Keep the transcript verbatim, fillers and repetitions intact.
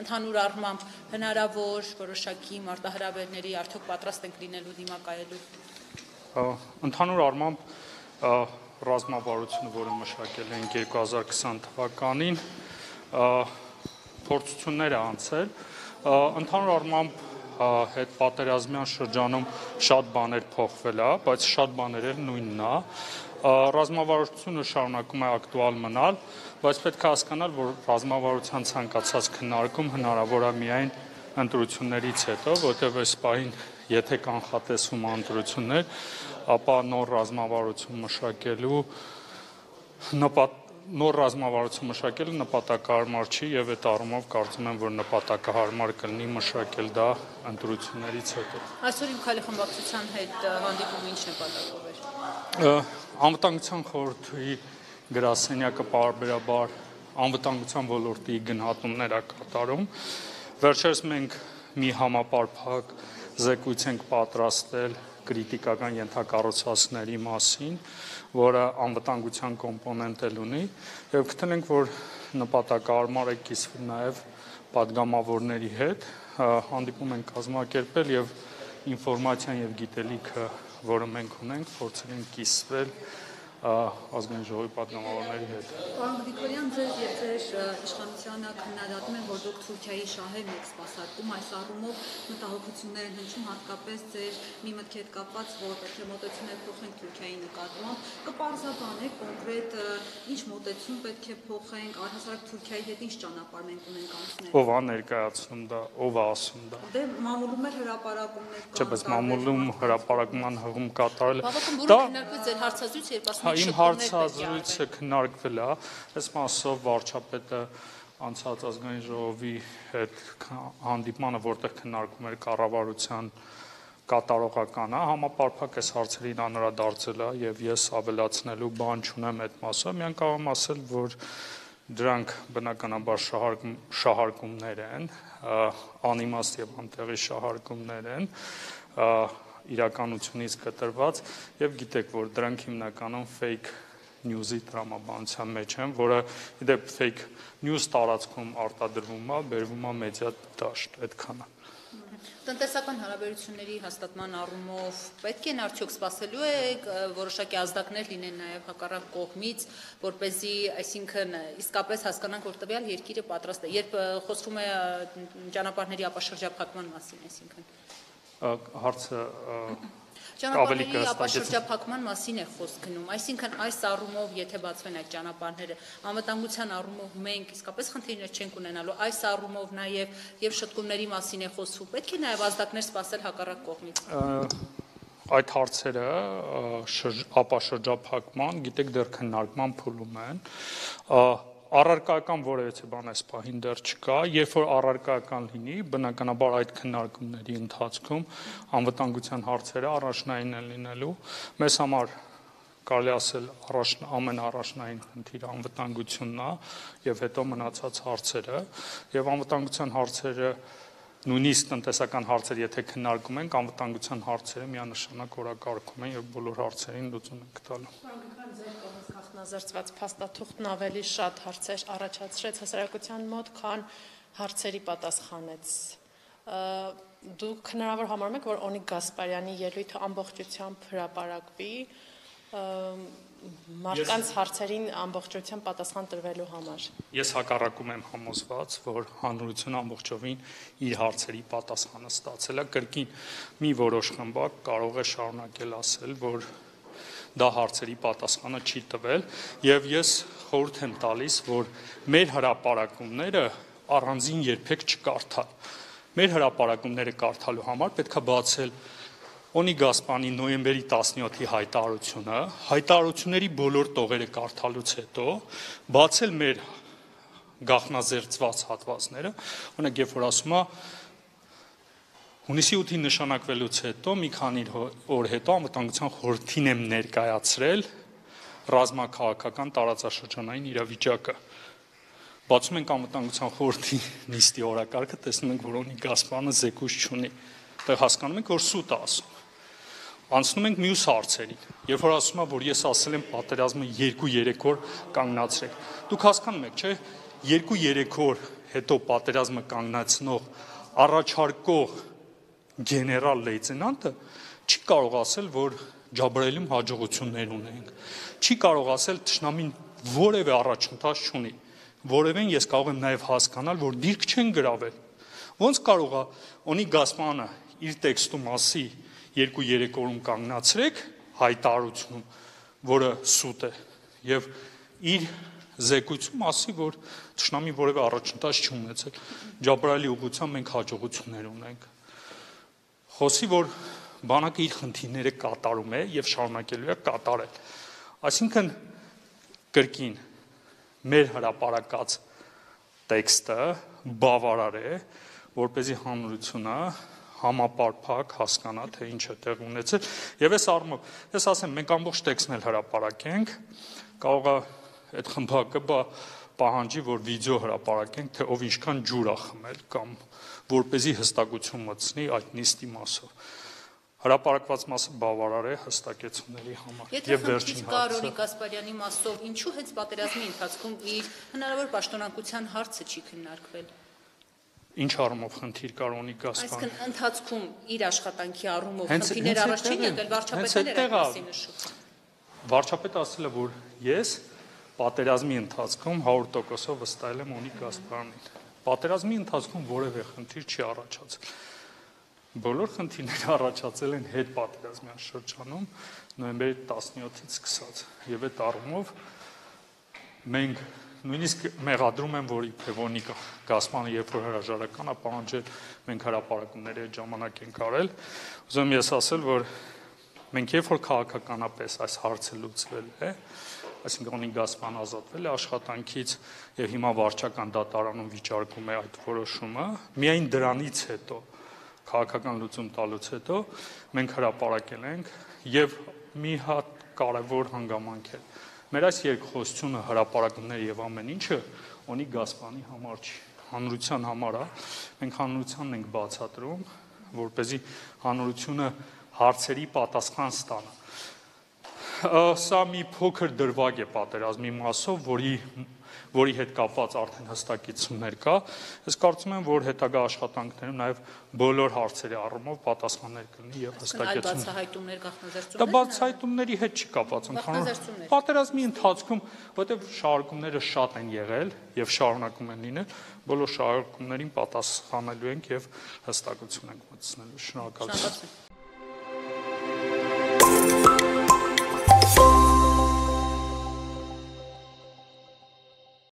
Ընդհանուր առմամբ հնարավոր որոշակի մարտահրավերների արդյոք պատրաստ ենք լինելու դիմակայելու։ Ընդհանուր առմամբ ռազմավարությունը, որը մշակել ենք երկու հազար քսան թվականին, փորձություններ է անցել, ընդհանուր առմամբ հետ պատերազմյան շրջանում շատ բաներ փոխվել է, բայց շատ բաները նույնն է, ռազմավարությունը շարունակում է ակտուալ մնալ, բայց պետք է հասկանալ, որ ռազմավարության ցանկացած քննարկում հնարավոր է միայն ընտրություններից հետո, որտեղ այս պահին եթե կանխատեսվում ընտրություններ, ապա նոր ռազմավարություն մշակելու նպատ նոր ռազմավարություն մշակելը նպատակահարմար չի եւ այդ առումով կարծում եմ, որ նպատակահարմար կլինի մշակել դա ընտրություններից հետո։ Այսօր իմ քայլի խմբակցության հետ հանդիպումը ինչ նպատակով էր։ Անվտանգության խորհրդի գրասենյակը պարբերաբար անվտանգության ոլորտի գնահատումներ է կատարում։ Վերջերս մենք մի համապարփակ զեկույց ենք պատրաստել կրիտիկական ենթակառուցվածքների մասին, որը անվտանգության կոմպոնենտ էլ ունի, եւ գտել ենք, որ նպատակահարմար է կիսվել նաեւ պատգամավորների հետ, հանդիպում ենք կազմակերպել եւ ինֆորմացիան եւ գիտելիքը, որը մենք ունենք, փորձել ենք կիսվել ազգային ժողովի պատգամավորների հետ։ Պարոն Գրիգորյան, ձեր եւ ձեր իշխանությանը քննադատում են, որ դուք Թուրքիայի շահերն եք սպասարկում, այս առումով մտահոգություններ են հնչում, հատկապես ձեր մի մտքի հետ կապված, որ պետք է մոտեցումներ փոխենք Թուրքիայի նկատմամբ, կպարզաբանեք կոնկրետ ինչ մոտեցում պետք է փոխենք, առհասարակ Թուրքիայի հետ ինչ ճանապարհ մենք ունենք անցնել։ Ով է ներկայացնում դա, ով է ասում դա։ Դե մամուլում էր հրապարակումներ կան։ Չէ, բայց մամուլում հրապարակման հղում կատարել։ Բավական բուռն քննարկվեց ձեր հարցազրույցը, երբ ասում Իմ հարցազրույցը քննարկվել է, այս մասով վարչապետը անցած ազգային ժողովի հետ հանդիպմանը, որտեղ քննարկում էր կառավարության կատարողականը, համապարփակ այս հարցերին անդրադարձել է եւ ես ավելացնելու բան չունեմ այդ մասով, միայն կարող եմ ասել, որ դրանք բնականաբար շահարկում, շահարկումներ են, անիմաստ եւ անտեղի շահարկումներ են, իրականությունից կտրված եւ գիտեք, որ դրանք հիմնականում fake news-ի տրամաբանության մեջ են, որը իդեպ fake news տարածքում արտադրվում է, բերվում է մեդիա դաշտ, այդքանը։ Տնտեսական հարաբերությունների հաստատման առումով պետք են արդյոք սպասելու է որոշակի ազդակներ լինեն նաև հակառակ կողմից, որպեսզի, այսինքն, իսկապես հասկանանք, որ տվյալ երկիրը պատրաստ է, երբ խոսվում է ճանապարհների ապաշրջափակման մասին, այսինքն։ Հարցը Ճանապարհների ապաշրջափակման մասին է խոսք գնում, այսինքն այս առումով, եթե բացվեն այդ ճանապարհները, անվտանգության առումով մենք իսկապես խնդիրներ չենք ունենալու, այս առումով նաև եւ շտկումների մասին է խոսվում, պետք է նաև ազդակներ սպասել հակառակ կողմից։ Այդ հարցերը ապաշրջափակման, գիտեք, դեռ քննարկման փուլում են, առարկայական որևէ բան այս պահին դեռ չկա, երբ որ առարկայական լինի, բնականաբար այդ քննարկումների ընթացքում անվտանգության հարցերը առաջնային են լինելու, մեզ համար կարելի ասել ամենաառաջնային խնդիրը անվտանգությունն է եւ հետո մնացած հարցերը, եւ անվտանգության հարցերը նույնիսկ տնտեսական հարցեր, եթե քննարկում ենք, անվտանգության հարցերը միանշանակ օրակարգում են եւ բոլոր հարցերին լուծում են գտալու։ Նախնազրծված փաստաթուղթն ավելի շատ հարցեր առաջացրեց հասարակության մոտ, քան հարցերի պատասխանեց։ Դուք հնարավոր համարում եք, որ Օնիկ Գասպարյանի ելույթը ամբողջությամբ հրապարակվի մարդկանց հարցերին ամբողջությամբ պատասխան տրվելու համար։ Ես հակառակում եմ համոզված, որ հանրությունը ամբողջովին իր հարցերի պատասխանը ստացել է, կրկին մի որոշ խմբակ կարող է շարունակել ասել, որ դա հարցերի պատասխանը չի տվել, եւ ես խորհուրդ եմ տալիս, որ մեր հրապարակումները առանձին երբեք չկարդալ։ Մեր հրապարակումները կարդալու համար պետք է բացել Օնիկ Գասպարյանի նոյեմբերի տասնյոթի հայտարարությունը, հայտարարությունների բոլոր տողերը կարդալուց հետո բացել մեր գաղտնազերծված հատվածները, օրինակ երբ որ ասում է հունիսի ութին նշանակվելուց հետո մի քանի օր հետո անվտանգության խորհրդին եմ ներկայացրել ռազմաքաղաքական տարածաշրջանային իրավիճակը։ Բացում ենք անվտանգության խորհրդի նիստի օրակարգը, տեսնում ենք, որ Օնիկ Գասպարյանը զեկույց չունի, այդտեղ հասկանում ենք, որ սուտ է ասում։ Անցնում ենք մյուս հարցերին, երբ որ ասում է, որ ես ասել եմ պատերազմը երկու երեք օր կանգնացրեք։ Դուք հասկանում եք, չէ՞, երկու երեք օր հետո պատերազմը կանգնեցնող առաջարկող գեներալ լեյտենանտը չի կարող ասել, որ Ջաբրայելում հաջողություններ ունենք, չի կարող ասել թշնամին որևէ առաջընթաց չունի, որևէն ես կարող եմ նաև հասկանալ, որ դիրք չեն գրավել։ Ոնց կարող է Օնի Գասպարյանը իր տեքստում ասի երկու-երեք օրում կանգնացրեք հայտարարությունում, որը սուտ է, եւ իր զեկույցում ասի, որ թշնամի որևէ առաջընթաց չի ունեցել։ Ջաբրայելի ուղղությամբ մենք հաջողություններ ունենք։ Խոսի, որ բանակը իր խնդիրները կատարում է եւ շարունակելու է կատարել։ Այսինքն կրկին մեր հրապարակած տեքստը բավարար է, որպեսզի հանրությունը համապարփակ հասկանա, թե ինչ է տեղ ունեցել, եւ այս առումով, ես ասեմ, մենք ամբողջ տեքստն էլ հրապարակենք, կարող է այդ խմբակը բա պահանջի, որ վիդեո հրապարակենք, թե ով ինչքան ջուր է խմել կամ որպեսզի հստակություն մտցնի այդ նիստի մասով։ Հրապարակված մասը բավարար է հստակեցումների համար։ Եվ վերջին հարցը Գասպարյանի մասով ինչու հենց պատերազմի ընթացքում իր հնարավոր պաշտոնակության հարցը չի քննարկվել։ Ինչ առումով խնդիր կար ունի Գասպարյանը։ Այսինքն ընթացքում իր աշխատանքի առումով խնդիրներ առաջ չի եկել, վարչապետն էր այդպեսի նշում։ Վարչապետը ասել է, որ ես պատերազմի ընթացքում հարյուր տոկոսով վստահել եմ Օնիկ Գասպարյանին։ Պատերազմի ընթացքում որևէ խնդիր չի առաջացել։ Բոլոր խնդիրները առաջացել են հետ պատերազմյան շրջանում նոյեմբերի տասնյոթից սկսած եւ այդ առումով մենք նույնիսկ մեղադրում եմ, որ իբրև Օնիկ Գասպարյանը երբ որ հրաժարական է պահանջել, մենք հրապարակումների այդ ժամանակ ենք արել, ուզում եմ ես ասել, որ մենք երբ որ քաղաքականապես այս հարցը լուծվել է, այսինքն Օնիկ Գասպարյանը ազատվել է աշխատանքից եւ հիմա վարչական դատարանում վիճարկում է այդ որոշումը, միայն դրանից հետո քաղաքական լուծում տալուց հետո մենք հրապարակել ենք եւ մի հատ կարևոր հանգամանք է։ Մեր այս երկխոսությունը, հրապարակումները եւ ամեն ինչը Օնիկ Գասպարյանի համար չի, հանրության համար է։ Մենք հանրությանն ենք բացատրում, որպեսզի հանրությունը հարցերի պատասխան ստանա։ Սա մի փոքր դրվագ է պատերազմի մասով, որի որի հետ կապված արդեն հստակեցումներ կա, ես կարծում եմ, որ հետագա աշխատանքներում նաև բոլոր հարցերի առումով պատասխաններ կլինի եւ հստակեցում։ Բացահայտումներ, գաղտնազերծումներ։ Դա բացահայտումների հետ չի կապված ընդհանուր պատերազմի ընթացքում, որտեղ շարժումները շատ են եղել եւ շարունակում են լինել, բոլոր շարժումներին պատասխանելու ենք եւ հստակություն ենք մտցնելու։ Շնորհակալություն։